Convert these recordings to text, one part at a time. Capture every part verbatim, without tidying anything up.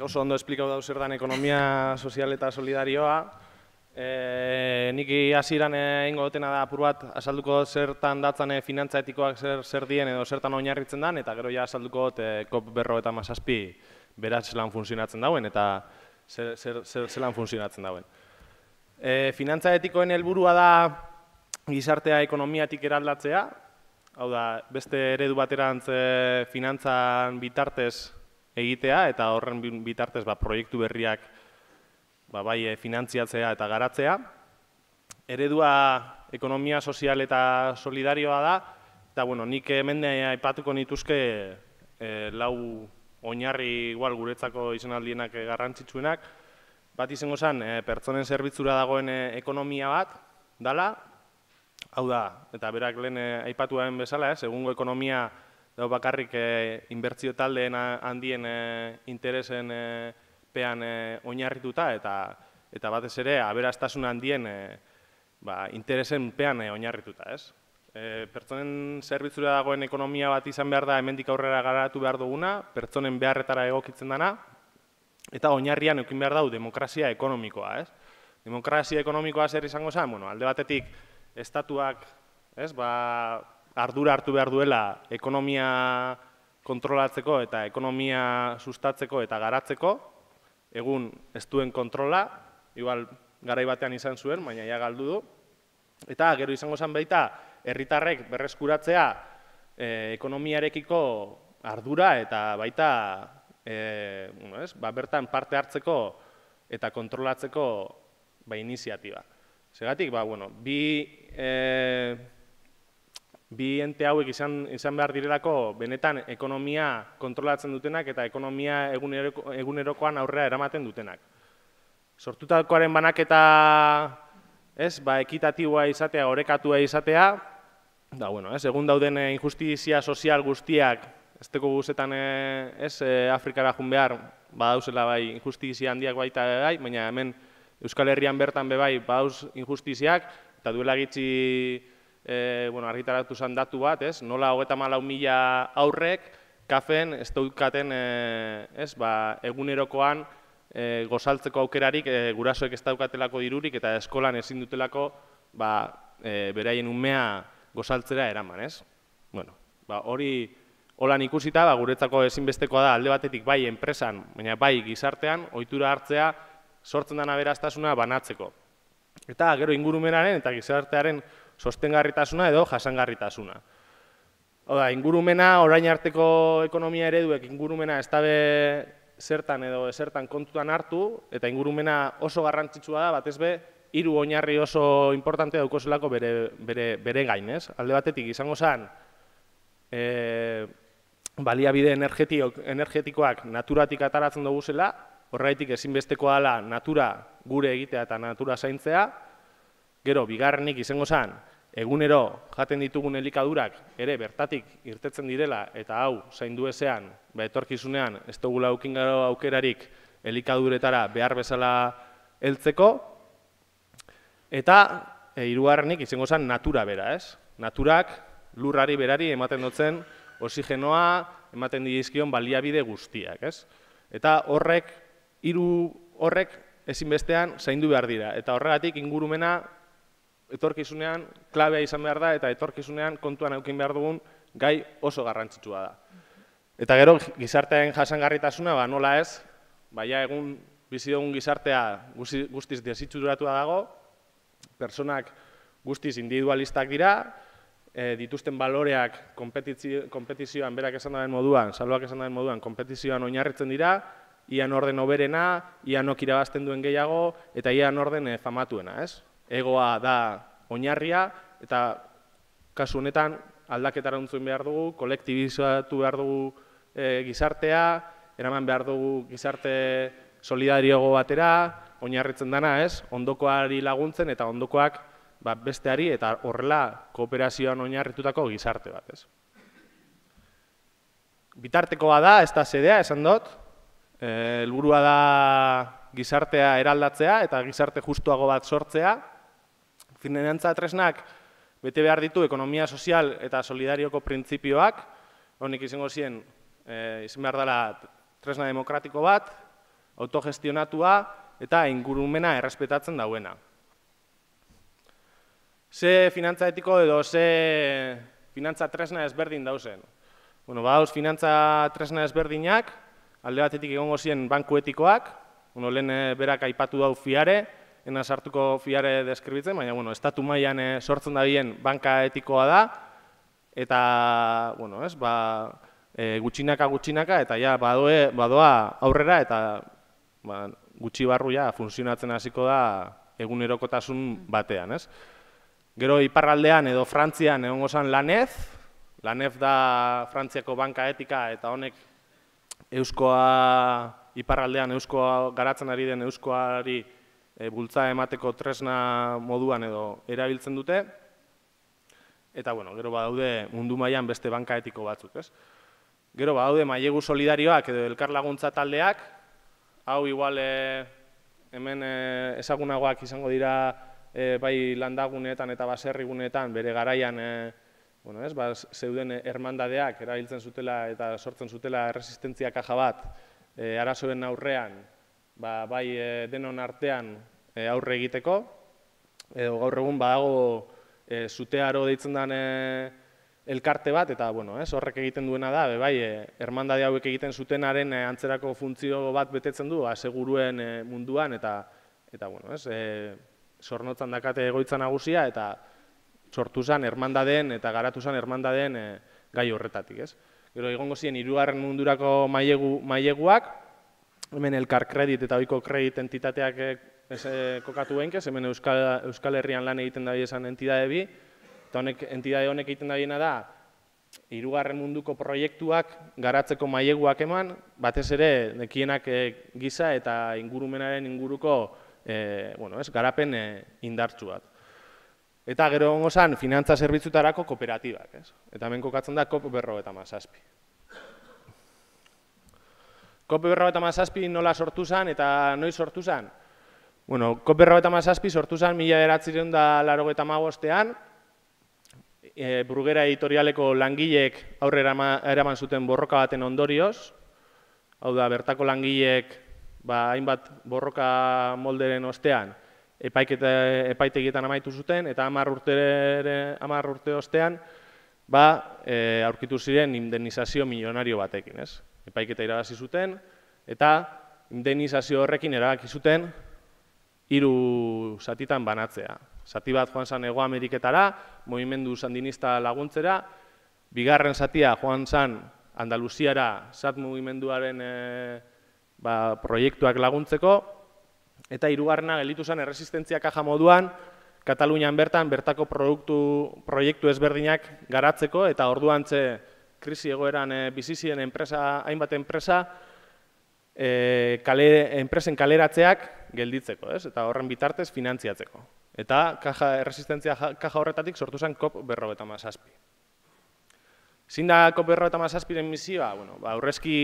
oso ondo esplikau dauz zer dan ekonomia sozial eta solidarioa. Nik hasieran egingo dutena da apur bat azalduko zertan datzan finantza etikoak zer dien edo zertan oinarritzen den, eta gero ja azalduko dut COP berrogeita hamazazpi beraz zelan funtzionatzen dauen eta zelan funtzionatzen dauen. Finantza etikoen helburua da gizartea ekonomiatik eraldatzea, hau da, beste eredu baterantz finantzan bitartez egitea eta horren bitartez proiektu berriak bai finantziatzea eta garatzea. Eredua ekonomia sozial eta solidarioa da, eta nik hemen aipatuko nituzke lau oinarri igual guretzako izanaldienak garrantzitsuenak. Bat izango zen, pertsonen zerbitzura dagoen ekonomia bat dala, hau da, eta berak lehen aipatuaren bezala, egungo ekonomia dago bakarrik inbertsio taldeen handien interesen pean oinarrituta eta batez ere aberastasun handien interesen pean oinarrituta. Pertsonen zerbitzura dagoen ekonomia bat izan behar da hemendik aurrera garatu behar duguna, pertsonen beharretara egokitzen dana, eta oinarrian eukin behar dau demokrazia ekonomikoa. Demokrazia ekonomikoa zer izango zen, alde batetik estatuak ardura hartu behar duela ekonomia kontrolatzeko eta ekonomia sustatzeko eta garatzeko, egun ez duen kontrola, igual garai batean izan zuen, baina ja galdu du. Eta gero izango zen baita, herritarrek berreskuratzea ekonomiarekiko ardura eta baita bertan parte hartzeko eta kontrolatzeko iniziatiba. Segatik, bi ente hauek izan behar direlako benetan ekonomia kontrolatzen dutenak eta ekonomia egunerokoan aurrera eramaten dutenak. Sortutakoaren banaketa ekitatiboa izatea, orekatua izatea, egun dauden injustizia sozial guztiak, ez teko guzetan Afrikara jun behar, badauzela bai injustizia handiak baita bai, baina hemen Euskal Herrian bertan bebai badauz injustiziak, eta duela gitzi argitaratu zen datu bat, nola hogeita hamalau mila aurrek kafen ez daukaten egunerokoan gozaltzeko aukerarik gurasoek ez daukatelako dirurik eta eskolan ezin dutelako beraien umea gozaltzera eraman. Hori holan ikusita guretzako ezinbestekoa da alde batetik bai enpresan, baina bai gizartean ohitura hartzea sortzen den aberastasuna banatzeko. Eta gero ingurumenaren eta gizartearen sostengarritasuna edo jasangarritasuna. Oda, ingurumena, orain arteko ekonomia ereduek ingurumena ez dabe zertan edo zertan kontutan hartu, eta ingurumena oso garrantzitsua da, batez be, hiru oinarri oso importante daukozelako bere gain, ez? Alde batetik izango zen, baliabide energetikoak naturatik ataratzen dugu zela, horregatik ezinbestekoa dela natura gure egitea eta natura zaintzea. Gero, bigarrenik izango zen, egunero jaten ditugun elikadurak ere bertatik irtetzen direla eta hau zaindu ezean, etorkizunean ez dugula aukin gero aukerarik elikaduretara behar bezala heltzeko. Eta hirugarrenik izango zen natura bera, ez? Naturak lurrari berari ematen dutzen oxigenoa, ematen dizkion baliabide guztiak, ez? Eta horrek, hiru horrek ezinbestean zaindu behar dira. Eta horregatik ingurumena etorkizunean klabea izan behar da eta etorkizunean kontuan eukin behar dugun gai oso garrantzitsua da. Eta gero gizartearen jasangarritasuna nola ez, baina egun bizi dugun gizartea guztiz desitxuratua dago, personak guztiz individualistak dira, dituzten baloreak konpetizioan, berak esan daren moduan, salboak esan daren moduan, konpetizioan oinarritzen dira, ia norden oberena, ia nok irabazten duen gehiago, eta ia norden famatuena, ez? Egoa da oinarria, eta kasu honetan aldaketara untzuen behar dugu, kolektibizatu behar dugu gizartea, eraman behar dugu gizarte solidarioago batera, oinarritzen dana, ez? Ondokoari laguntzen eta ondokoak besteari eta horrela kooperazioan oinarritutako gizarte bat, ez? Bitartekoa da, ez da zedea, esan dut, helburua da gizartea eraldatzea eta gizarte justuago bat sortzea. Finantza tresnak bete behar ditu ekonomia sozial eta solidarioko printzipioak, honik izango ziren, izan behar dela tresna demokratiko bat, autogestionatua eta ingurumena errespetatzen dauena. Ze finantza etiko edo ze finantza tresna ezberdin dauzen. Bueno, badauz finantza tresna ezberdinak, alde batetik egongo ziren banku etikoak, bueno, lehen berak aipatu dau fiare, ena sartuko fiare deskribitzen, baina bueno, estatu mailan sortzen da bien banka etikoa da, eta bueno, ez, ba, e, gutxinaka gutxinaka eta ja badoe, badoa aurrera eta ba, gutxi barru ja funtzionatzen hasiko da egunerokotasun batean, ez? Gero iparraldean edo Frantzian egongo zen Lanez, Lanez da Frantziako banka etika eta honek euskoa, iparraldean euskoa garatzen ari den euskoari e, bultza emateko tresna moduan edo erabiltzen dute. Eta, bueno, gero badaude mundu mailan beste banka etiko batzuk, ez? Gero badaude mailegu solidarioak edo elkarlaguntza taldeak, hau igual e, hemen e, ezagunagoak izango dira e, bai landaguneetan eta baserriguneetan bere garaian e, bueno, ez, ba, zeuden hermandadeak erabiltzen zutela eta sortzen zutela erresistentzia kaja bat e, arazoen aurrean, ba, bai e, denon artean e, aurre egiteko, edo gaur egun badago e, zutearo deitzen den e, elkarte bat, eta bueno, ez, horrek egiten duena da, be, bai, e, hermandade hauek egiten zutenaren e, antzerako funtzio bat betetzen du, aseguruen e, munduan, eta, eta bueno, ez, e, zornotzan dakate egoitza nagusia, eta sortu zen hermandadeen eta garatu zen hermandadeen e, gai horretatik, ez. Gero egongo ziren hirugarren mundurako mailegu, maileguak, hemen elkar kredit eta ohiko kredit entitateak e, ez, e, kokatu behinkez, hemen Euskal, Euskal Herrian lan egiten da esan entidade bi, eta honek, entidade honek egiten da biena da, hirugarren munduko proiektuak garatzeko maileguak eman, batez ere nekienak e, giza eta ingurumenaren inguruko e, bueno, ez, garapen e, indartsu bat. Eta gero egongo zen finantza zerbitzutarako kooperatibak, ez? Eta hemen kokatzen da kop berrogeita hamazazpi. kop berrogeita hamazazpi nola sortu zen eta noiz sortu zen? Bueno, kop berrogeita hamazazpi sortu zen mila bederatziehun eta laurogeita hamabostean, e, Bruguera editorialeko langileek aurrera eraman zuten borroka baten ondorioz, hau da, bertako langileek ba, hainbat borroka molderen ostean, epaitegietan amaitu zuten, eta hamar urte, hamar urte ostean ba, e, aurkitu ziren indemnizazio milionario batekin, ez? Epaiketa irabazi zuten, eta indemnizazio horrekin erabaki zuten hiru zatitan banatzea. Zati bat joan zen Hego Ameriketara, mugimendu sandinista laguntzera, bigarren zatia joan zen Andaluziara zat mugimenduaren e, ba, proiektuak laguntzeko, eta hirugarrena gelditu zen erresistentzia kaja moduan, Katalunian bertan bertako produktu, proiektu ezberdinak garatzeko, eta orduan ze krisi egoeran e, bizi ziren enpresa, hainbat enpresa, e, kale, enpresen kaleratzeak gelditzeko, ez? Eta horren bitartez finantziatzeko. Eta kaja, erresistentzia kaja horretatik sortu zen kop berrogeita hamazazpi. Zein da kop berrogeita hamazazpiren misioa? Bueno, ba, aurrezki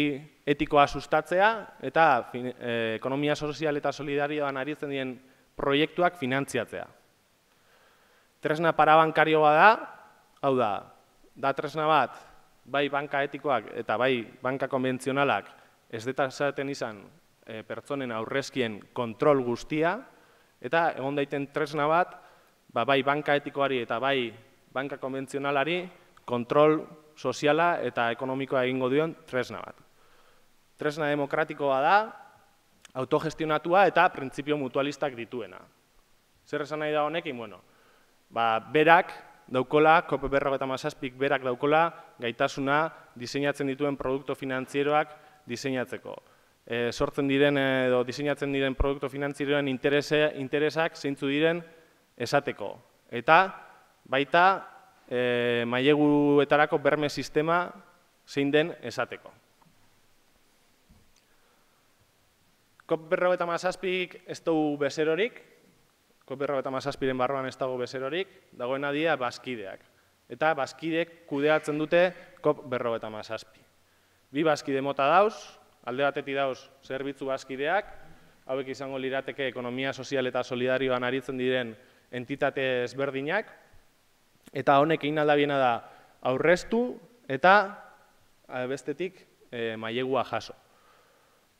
etikoa sustatzea eta fin, e, ekonomia sozial eta solidarioan aritzen diren proiektuak finantziatzea. Tresna parabankarioa da, hau da, da tresna bat, bai banka etikoak eta bai banka konbentzionalak ez detazaten izan e, pertsonen aurrezkien kontrol guztia, eta egon daiten tresna bat, ba, bai banka etikoari eta bai banka konbentzionalari kontrol soziala eta ekonomikoa egingo dion tresna bat. Tresna demokratikoa da, autogestionatua eta printzipio mutualistak dituena. Zer esan nahi da honekin? Bueno, ba, berak daukola, kop berrogeita hamazazpik berak daukola gaitasuna diseinatzen dituen produktu finantzieroak diseinatzeko. E, sortzen diren edo diseinatzen diren produktu finantzieroen interese, interesak zeintzu diren esateko. Eta baita e, maileguetarako berme sistema zein den esateko. kop berrogeita hamazazpik ez dugu bezerorik, kop berrogeita hamazazpiren barruan ez dago bezerorik, dagoena dira bazkideak. Eta bazkideek kudeatzen dute kop berrogeita hamazazpi. Bi bazkide mota dauz, alde batetik dauz zerbitzu bazkideak, hauek izango lirateke ekonomia sozial eta solidarioan aritzen diren entitate ezberdinak, eta honek egin aldabiena da aurreztu eta bestetik e, mailegua jaso.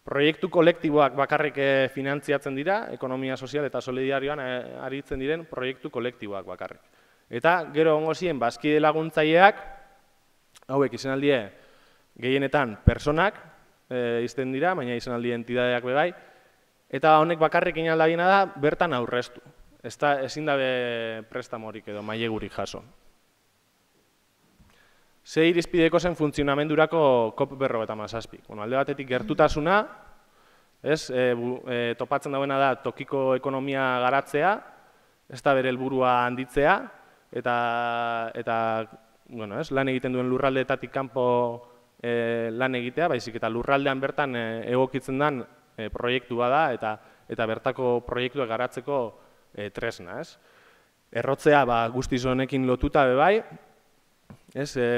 proiektu kolektiboak bakarrik finantziatzen dira, ekonomia sozial eta solidarioan aritzen diren proiektu kolektiboak bakarrik. Eta gero ongo ziren, bazkide laguntzaileak, hauek izan aldie gehienetan personak izten dira, baina izan aldie entidadeak bebai, eta honek bakarrik inaldabiena da, bertan aurreztu. Ezin dabe prestamorik edo mailegurik jaso. Ze irizpideko zen funtzionamendurako COP berrogeita hamazazpi. Alde batetik gertutasuna, topatzen dauena da tokiko ekonomia garatzea, ez da bere helburua handitzea, eta lan egiten duen lurraldeetatik kanpo lan egitea, baizik eta lurraldean bertan egokitzen den proiektu bada, eta bertako proiektuak garatzeko tresna. Errotzea guztiz honekin lotuta bebai,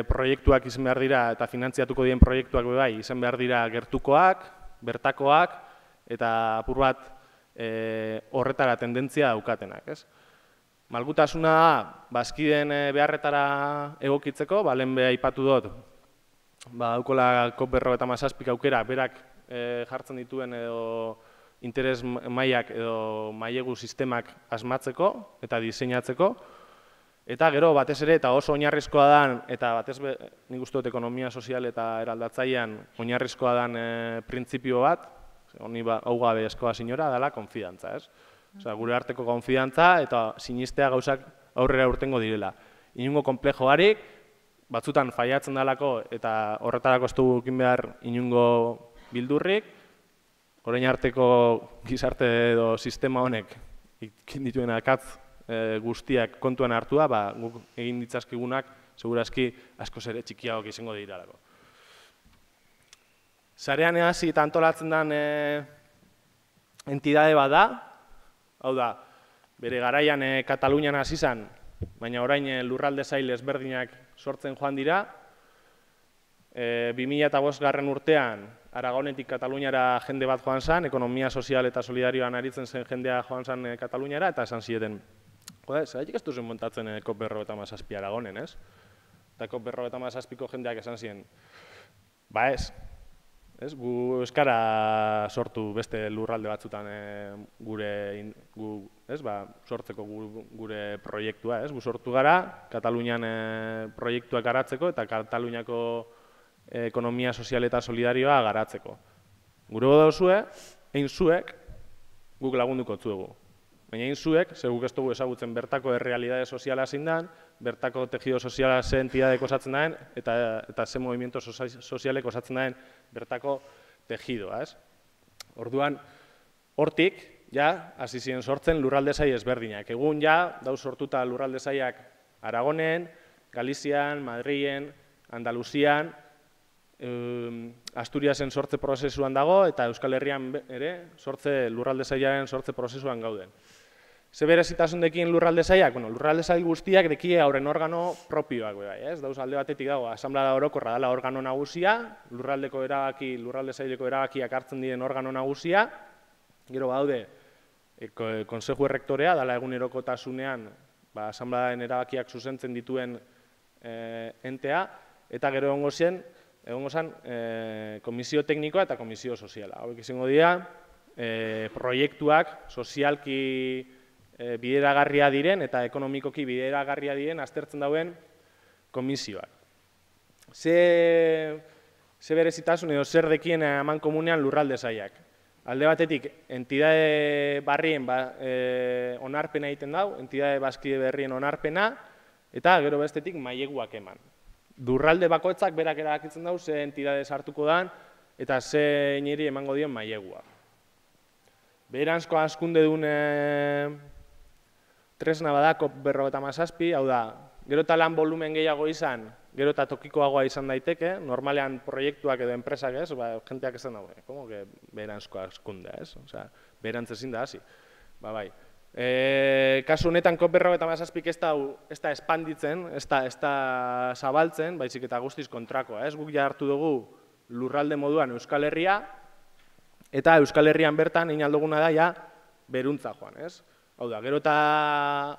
proiektuak izan behar dira eta finantziatuko dien proiektuak bebai izan behar dira gertukoak, bertakoak eta apur bat horretara tendentzia daukatenak. Malgutasuna da, bazkideen beharretara egokitzeko, lehen beha aipatu dut, daukola COP berrogeita hamazazpik aukera berak jartzen dituen edo interes mailak edo mailegu sistemak asmatzeko eta diseinatzeko. Eta gero, batez ere, eta oso oinarrizkoa dan, eta batez nik uste dut ekonomia sozial eta eraldatzailean oinarrizkoa dan printzipio bat, honi hau gabe eskoa sinora, dela konfidantza, ez? Gure arteko konfidantza eta sinistea gauzak aurrera urtengo direla. Inungo komplejo harik, batzutan faiatzen dalako eta horretarako ez dugu ekin behar inungo bildurrik, orain arteko gizarte edo sistema honek ikin dituen akatz guztiak kontuan hartua, guk egin ditzazkigunak, segurazki askoz ere txikiagok izango diralako. Sarean hasi eta antolatzen den entidade bat da, hau da, bere garaian Katalunian hasi zen, baina orain lurralde sail ezberdinak sortzen joan dira. bi mila bost garren urtean, Aragonetik Kataluniara jende bat joan zen, ekonomia sozial eta solidarioan aritzen zen jendea joan zen Kataluniara, eta esan zieten, zeratik ez duzen montatzen COP berrogeita hamazazpi Aragonen, ez? Eta COP berrogeita hamazazpiko jendeak esan ziren, ba ez, gu euskara sortu beste lurralde batzutan gure, sortzeko gure proiektua, ez? Gu sortu gara, Katalunian proiektuak garatzeko eta Kataluniako ekonomia sozial eta solidarioa garatzeko. Gure godozue, egin zuek, guk lagunduko zuegu. Baina egin zuek, ze guk ez dugu ezagutzen bertako errealidade soziala zein den, bertako tejido soziala ze entidadek osatzen den, eta ze movimiento sozialek osatzen den bertako tejidoa. Orduan, hortik, ja, hasi ziren sortzen lurralde sail ezberdinak. Egun, ja, dauz sortuta lurralde sailak Aragonen, Galizian, Madrilen, Andaluzian, Asturiasen sortze prozesuan dago, eta Euskal Herrian ere lurralde sailaren sortze prozesuan gauden. Ze berezitasundekin lurralde sailak? Lurralde sail guztiak dekie hauren organo propioak, dauz alde batetik dago, asanblada orokorra dela organo nagusia, lurraldeko erabaki, lurralde saileko erabakiak hartzen diren organo nagusia, gero baude, konseju errektorea, dela egunerokotasunean, asanbladaen erabakiak zuzentzen dituen entea, eta gero egongo zen, egongo zen komisio teknikoa eta komisio soziala. Hauek izango dira, proiektuak sozialki bideragarria diren eta ekonomikoki bideragarria diren aztertzen dauen komisioak. Ze berezitasun edo zer dekien eman komunean lurralde sailak. Alde batetik, entidade barrien onarpena egiten dau, entidade bazkide berrien onarpena, eta gero bestetik maileguak eman. Lurralde bakoitzak berak erabakitzen dau, ze entidade sartuko dan, eta ze iniri emango dion mailegua. Beheranzko hazkunde duen tresna bada COP berrogeita hamazazpi, hau da, gero eta lan volumen gehiago izan, gero eta tokikoagoa izan daiteke, normalean proiektuak edo enpresak ez, jenteak esan dago, como que beheranzko hazkundea ez, beherantz ezin da hasi. Ba bai. Kasu honetan COP berrogeita hamazazpik ez da espanditzen, ez da zabaltzen, baizik eta guztiz kontrakoa. Guk ja hartu dugu lurralde moduan Euskal Herria, eta Euskal Herrian bertan egin alduguna da ja beruntza joan. Hau da, gero eta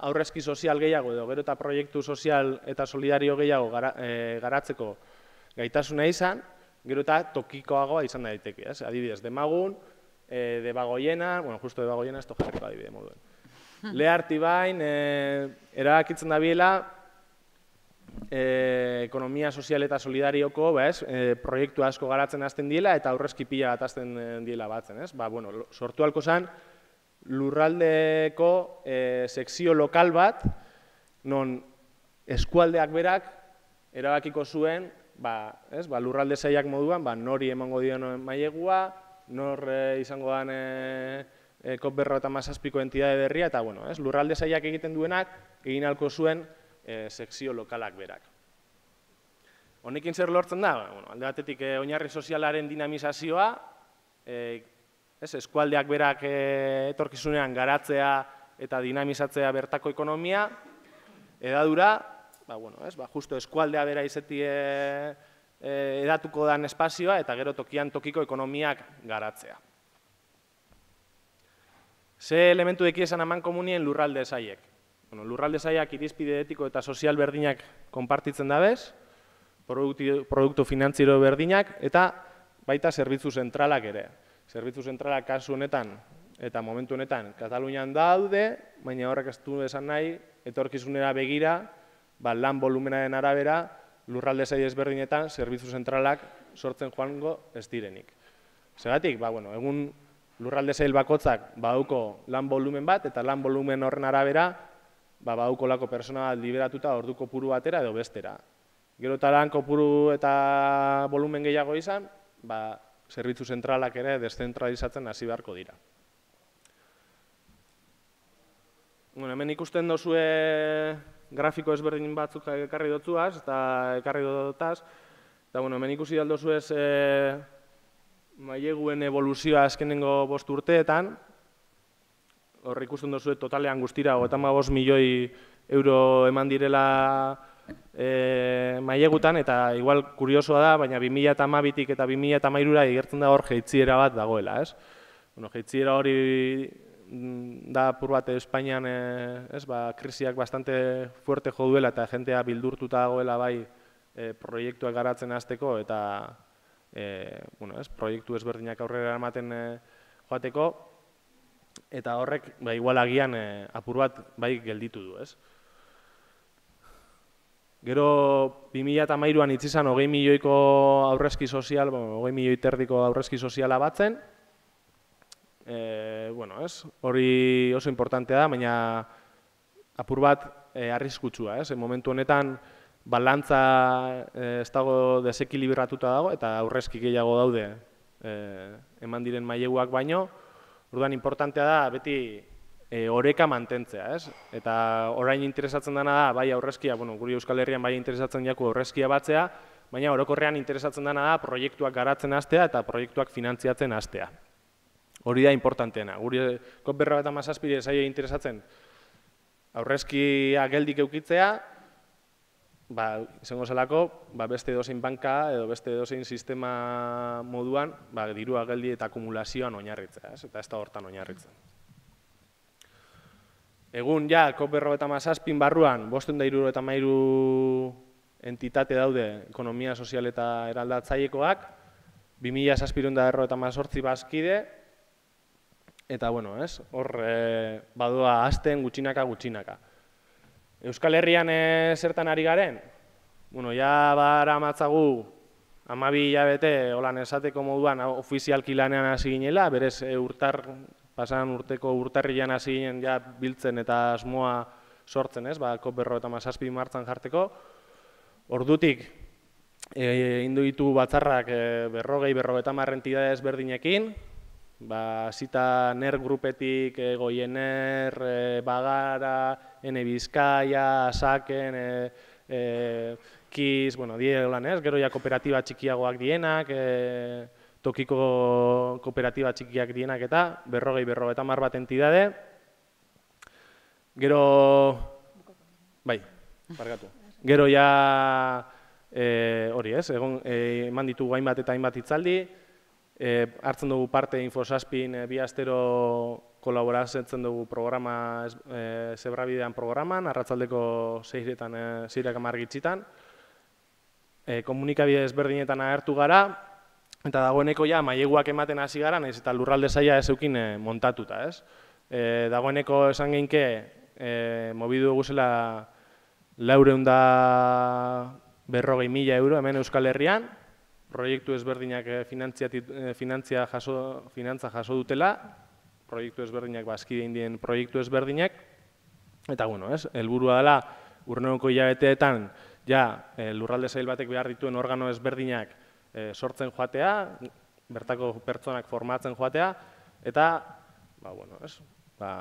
aurrezki sozial gehiago edo gero eta proiektu sozial eta solidario gehiago garatzeko gaitasuna izan, gero eta tokikoagoa izan daiteke, ez? Adibidez, Demagun, e, Debagoienan, bueno, justo Debagoienan ez to jarriko adibide moduen. Lehartibain, e, erabakitzen da biela, e, ekonomia sozial eta solidarioko, ba, ez, e, proiektu asko garatzen hasten diela eta aurrezki pila bat hasten diela batzen, ez? Ba, bueno, sortu halko zen, lurraldeko e, sekzio lokal bat, non eskualdeak berak erabakiko zuen, ba, ez, ba, lurralde sailak moduan, ba, nori emango dion mailegua, nor e, izango den e, e, COP berrogeita hamazazpiko entidade berria, eta bueno, ez, lurralde sailak egiten duenak, egin halko zuen e, sekzio lokalak berak. Honekin zer lortzen da? Bueno, alde batetik e, oinarri sozialaren dinamizazioa, e, ez, eskualdeak berak e, etorkizunean garatzea eta dinamizatzea bertako ekonomia, edadura, ba, bueno, ez, ba, justo eskualdea bera izeti e, e, edatuko dan espazioa eta gero tokian tokiko ekonomiak garatzea. Ze elementu eki esan aman komunien lurralde saiek? Bueno, lurralde saiak irizpide etiko eta sozial berdinak konpartitzen dabez, produktu, produktu finantziero berdinak eta baita zerbitzu zentralak ere. Zerbitzu zentralak kasu honetan eta momentu honetan Katalunian daude, baina horrek ez du esan nahi, etorkizunera begira, ba, lan volumenaren arabera, lurralde sail ezberdinetan zerbitzu zentralak sortzen joango ez direnik. Zergatik, ba, bueno, egun lurralde sail bakotzak badauko lan volumen bat, eta lan volumen horren arabera, ba, badauko lako persona liberatuta ordu kopuru batera edo bestera. Gero eta lan kopuru eta volumen gehiago izan, ba, zerbitzu zentralak ere deszentralizatzen hasi beharko dira. Bueno, hemen ikusten dozue grafiko ezberdin batzuk ekarri dotzuaz, eta ekarri dotaz, eta bueno, hemen ikusi aldozuez e, maileguen evoluzioa azkenengo bost urteetan, hor ikusten dozue totalean guztira, hogeita hamabost milioi euro eman direla e, mailegutan, eta igual kuriosoa da, baina bi mila hamabitik eta bi mila hamairura igertzen da hor jeitziera bat dagoela, ez? Bueno, jeitziera hori da apur bat Espainian, ez, ba, krisiak bastante fuerte jo duela eta jentea bildurtuta dagoela bai e, proiektuak garatzen hasteko eta e, bueno, ez, proiektu ezberdinak aurrera ematen e, joateko eta horrek ba, igual agian e, apur bat bai gelditu du, ez? Gero bi mila hamairuan hitz izan hogei milioiko aurrezki sozial, bueno, hogei milioi terdiko aurrezki soziala batzen. E, bueno, ez, hori oso importantea da, baina apur bat e, arriskutsua, ez? Momentu honetan balantza e, ez dago desekilibratuta dago eta aurrezki gehiago daude e, eman diren maileguak baino. Orduan importantea da beti e, oreka mantentzea, ez? Eta orain interesatzen dena da bai aurrezkia, bueno, guri Euskal Herrian bai interesatzen jaku aurrezkia batzea, baina orokorrean interesatzen dena da proiektuak garatzen hastea eta proiektuak finantziatzen hastea. Hori da importanteena. Guri COP berrogeita hamazazpiri zaie interesatzen aurrezkia geldik eukitzea, ba, izango zelako, ba, beste edozein banka edo beste edozein sistema moduan, ba, dirua geldi eta akumulazioan oinarritzea, ez? Eta ez da hortan oinarritzen. Egun, ja, COP berrogeita hamazazpin barruan, bosten da hirurogeita hamairu entitate daude ekonomia sozial eta eraldatzailekoak, bi mila zazpiehun eta berrogeita hemezortzi bazkide, eta, bueno, ez, hor e, badoa hasten gutxinaka gutxinaka. Euskal Herrian e, zertan ari garen? Bueno, ja bara matzagu hamabi hilabete holan esateko moduan ofizialki lanean hasi ginela, berez e, urtar, pasan urteko urtarrian hasi ginen ja biltzen eta asmoa sortzen, ez, ba, COP berrogeita hamazazpi martxan jarteko. Ordutik, e, indu ditu batzarrak e, berrogei, berrogeita hamar entidade ezberdinekin, ba, zita NER grupetik, e, Goiener, e, Bagara, Ene Bizkaia, Asaken, e, e, Kiz, bueno, die lan ez, gero ja kooperatiba txikiagoak dienak, e, tokiko kooperatiba txikiak dienak eta berrogei, berrogeita hamar bat entidade. Gero, bai, barkatu. Gero ja, e, hori ez, egon, e, eman ditugu hainbat eta hainbat hitzaldi, e, hartzen dugu parte Infosazpin e, bi astero kolaboratzen dugu programa, e, Zebrabidean programan, arratzaldeko seiretan, e, seirak hamar gitzitan. E, komunikabide ezberdinetan agertu gara, Eta dagoeneko ja maileguak ematen hasi gara, nahiz eta lurralde saila ez eukin montatuta, ez? E, dagoeneko esan geinke, e, mobidu guzela laureun da berrogei mila euro hemen Euskal Herrian, proiektu ezberdinak finantzia jaso, finantza jaso dutela, proiektu ezberdinak, bazkide indien proiektu ezberdinak, eta, bueno, ez, helburua dela, urreneko hilabeteetan, ja, e, lurralde sail batek behar dituen organo ezberdinak e, sortzen joatea, bertako pertsonak formatzen joatea, eta, ba, bueno, ez, ba,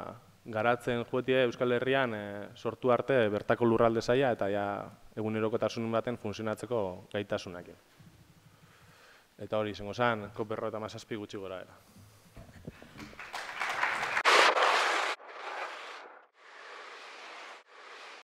garatzen joetie Euskal Herrian e, sortu arte bertako lurralde saila eta ja egunerokotasun baten funtzionatzeko gaitasunak. Eta hori, izango zen, ko berrogeita hamazazpi gutxi gora era.